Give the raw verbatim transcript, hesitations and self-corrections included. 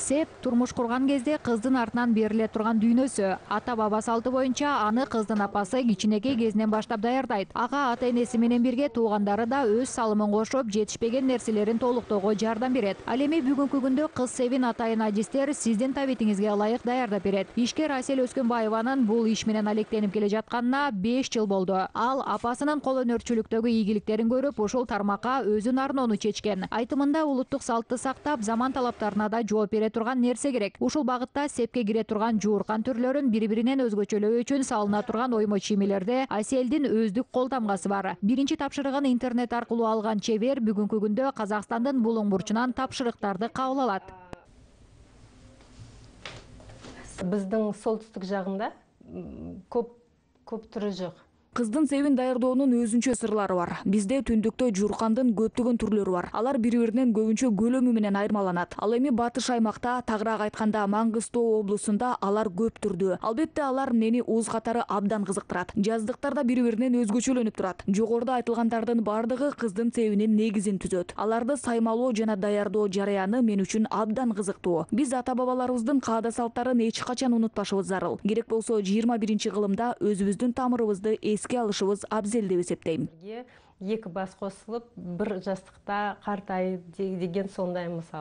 Сеп турмуш курган кезде кыздын артынан бериле турган дүйнөсү. Ата баба салты боюнча аны кыздын апасы кичинекей кезинен баштап даярдайт. Ага ата энеси менен бирге туугандары да өз салымын кошуп, жетишпеген нерселерин толуктоого жардам берет. Ал эми бүгүнкү күндө кыз себин атайын ажистер сиздин табитиңизге ылайык даярдап берет. Ишкер Асель Өскөнбаеванын бул иш менен алектенип келе жатканына беш жыл болду. Ал апасынын кол өнөрчүлүктөгү ийгиликтерин көрүп, ушул тармакка өзүн арноону чечкен. Айтымында улуттук салтты сактап, заман талаптарына да жооп бере турган нерсе керек. Ушул багытта сепке кире турган жууркан түрлөрүн бири-биринен өзгөчөлөө үчүн салына турган оймо чиймелерде Аселдин өздүк кол тамгасы бар. Биринчи тапшырыгын интернет аркылуу алган чебер бүгүнкү күндө Казакстандын булуң бурчунан тапшырыктарды кабыл алат. Биздин солтүстүк жагында көп көп түрү жок. Кыздын себин даярдоонун өзүнчө сырлары бар. Бизде түндүктө жууркандын көптөгөн түрлөрү бар. Алар бири-биринен көбүнчө көлөмү менен айырмаланат. Ал эми батыш аймакта, тагыраак айтканда Маңгыстоо облусунда алар көп түрдүү. Албетте алар мени уз катары абдан кызыктырат. Жаздыктарда бири-биринен өзгөчөлөнүп турат. Жогоруда айтылгандардын бардыгы кыздын себинин негизин түзөт. Аларды саймалоо жана даярдоо жараяны мен үчүн абдан кызыктуу. Биз ата-бабаларыбыздын каада салттарын эч качан унутпашыбыз зарыл. Керек болсо жыйырма биринчи кылымда өзүбүздүн тамырыбызды эске алышыбыз абзел деп эсептейм. Эки бас косулуп, бир жастыкта картайып деген сондай мисал.